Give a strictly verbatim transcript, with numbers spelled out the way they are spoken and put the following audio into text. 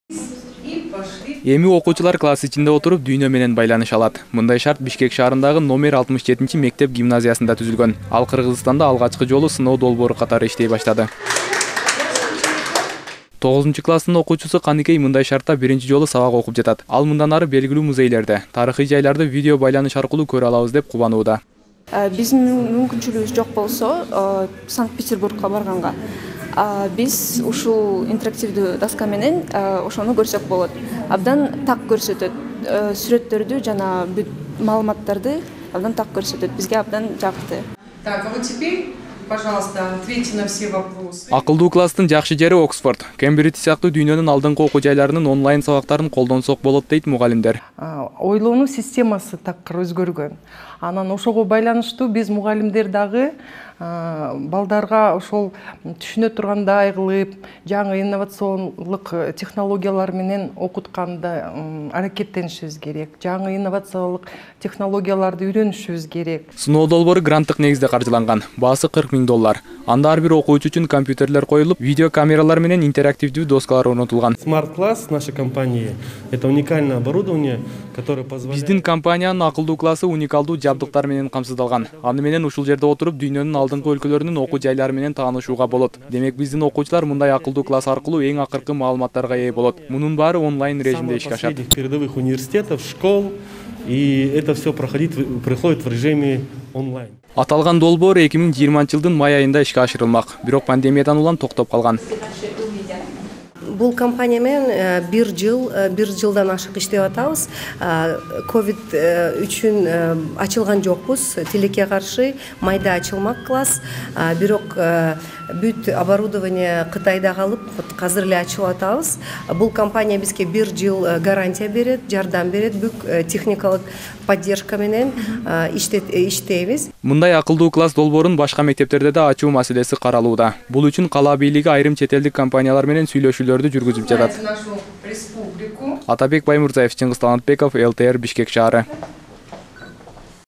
Эми окуучулар класс ичинде отуруп дүйнө менен байланыша алат. Мындай шарт Бишкек шаарындагы номер алтымыш жетинчи мектеп гимназиясында түзүлгөн. Ал Кыргызстанда алгачкы жолу сыноо долбоору катары иштей баштады. тогузунчу класстын окуучусу Каныкей мындай шартта биринчи жолу сабак окуп жатат. Ал мындан ары белгилүү музейлерде, тарыхый жайларды видео байланыш аркылуу көрө алабыз деп кубанууда. Биздин мүмкүнчүлүгүбүз жок болсо, Санкт-Петербургка барганга биз ушул интерактивдүү доска менен ошону көрсөк болот. Абдан так көрсөтөт. Сүрөттөрдү жана бүт маалыматтарды абдан так көрсөтөт. Бизге абдан жакты. Так, а вот теперь, пожалуйста, ответьте на все вопросы. Акылдуу класстын жакшы жери Оксфорд. Кембридж сыяктуу дүйнөнүн алдыңкы окуу жайларынын онлайн сабактарын колдонсок болот дейт мугалимдер. Ойлонуу системасы такыр өзгөргөн. Анан ошого байланыштуу биз мугалимдер дагы балдарга ошол түшүнө тургандай кылып, жаңы инновациондук технологиялар менен окутканда аракеттенишибиз керек. Жаңы инновациялык технологияларды үйрөнүшүбүз керек. Сыноо долбоору гранттык негизде каржыланган. Баасы кырк миң доллар. Анда ар бир окуучу үчүн компьютерлер коюлуп, видео камералар менен интерактивдүү доскалар орнотулган. Smart Class нашей компании это уникальное оборудование, которое позволяет. Биздин компаниянын акылдуу классы уникалдуу жабдыктар менен камсыздалган. Аны менен ушул жерде отуруп дүйнөнүн алдыңкы өлкөлөрүнүн окуу жайлары менен таанышууга болот. Демек биздин окуучулар мындай акылдуу класс аркылуу эң акыркы маалыматтарга ээ болот. Мунун баары онлайн режимде ишке ашат. Передовых университетов, школ, и это все проходит проходит в режиме онлайн. Аталган долбоор эки миң жыйырманчы жылдын май айында ишке ашырылмак. Бирок пандемиядан улам токтоп калган. Бул компания менен бир жыл, бир жылдан ашык иштеп атабыз. Ковид үчүн ачылган жокпуз. Тилекке каршы майда ачылмак класс. Бирок бүт оборудование Кытайда калып, азыр эле ачылып атабыз. Бул компания бизге бир жыл гарантия берет, жардам берет, бүк техникалык поддержка менен иштейбиз. Мындай акылдуу класс долбоорун башка мектептерде да ачуу маселеси каралууда. Бул үчүн кала бийлиги айрым чет элдик компаниялар менен сүйлөшүүлөрдү жүргүзүп жатат. Атабек Баймурзаев, Чыңгыз Талантбеков, эл тэ эр Бишкек шаары.